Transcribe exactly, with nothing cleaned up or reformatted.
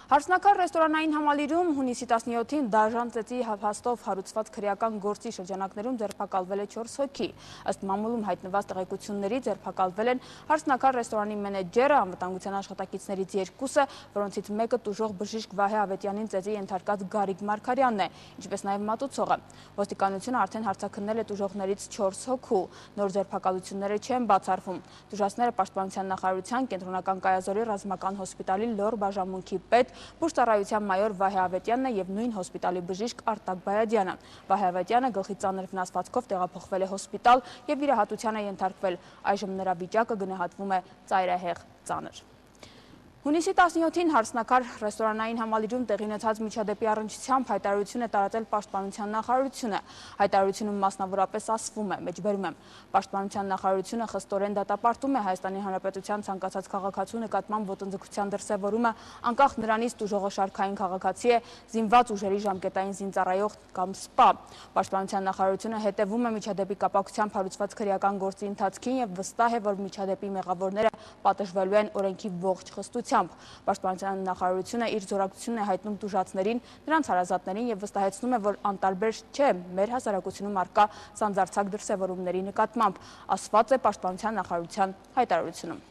Հարսնակար ռեստորանային համալիրում հունիսի տասնյոթին դաժան ծեծի հաստով հարուցված քրեական գործի շրջանակներում ձերբակալվել է չորս հոգի։ Ըստ մամուլում հայտնված տեղեկությունների ձերբակալվել են Հարսնակար ռեստորանի մենեջերը, անվտանգության աշխատակիցներից երկուսը, որոնցից մեկը տուժող բժիշկ Վահե Ավետյանին ծեծի ենթարկած Գարիկ Մարգարյանն է, ինչպես նաև մատուցողը։ Ոստիկանությունը արդեն հարցաքննել է տուժողներից չորս հոգու։ Նոր ձերբակալությունները չեն բացառվում։ Տուժածները Պաշտպանության նախարարության Կենտրոնական կայազորի ռազմական հոսպիտալի լոր բաժանմունքի պետ Բուժծառայության մայոր Վահե Ավետյանն է և նույն հոսպիտալի բժիշկ Արտակ Բայադյանը։ Վահե Ավետյանը գլխի ծանր վնասվածքով տեղափոխվել է հոսպիտալ և վիրահատության է ենթարկվել։ Այժմ նրա վիճակը գնահատվում է ծայրահեղ ծանր։ Հունիսի տասնյոթին Հարսնակար ռեստորանային համալիրում տեղի ունեցած միջադեպի առնչությամբ հայտարարություն է տարածել Պաշտպանության նախարարությունը։ Հայտարարությունում մասնավորապես ասվում է, մեջբերում եմ, Պաշտպանության նախարարությունը խստորեն դատապարտում է Հայաստանի Հանրապետության ցանկացած քաղաքացու նկատմամբ ոտնձգության դրսևորումը, անկախ նրանից տուժողը շարքային քաղաքացի է, զինված ուժերի ժամկետային զինծառայող կամ սպա։ Պաշտպանության նախարարությունը հետևում է միջադեպի կապակցությամբ հարուցված քրեական գործի ընթացքին և վստահ է, որ միջադեպի մեղավորները պատժվելու են օրենքի ողջ խստությամբ։ Պաշտպանության նախարարությունը իր զորակցությունն է հայտնում տուժածներին, նրանց հարազատներին և վստահեցնում է, որ անտարբեր չէ մեր հասարակությունում առկա սանձարձակ դրսևորումների նկատմամբ, ասված է Պաշտպանության նախարարության հայտարարությունում։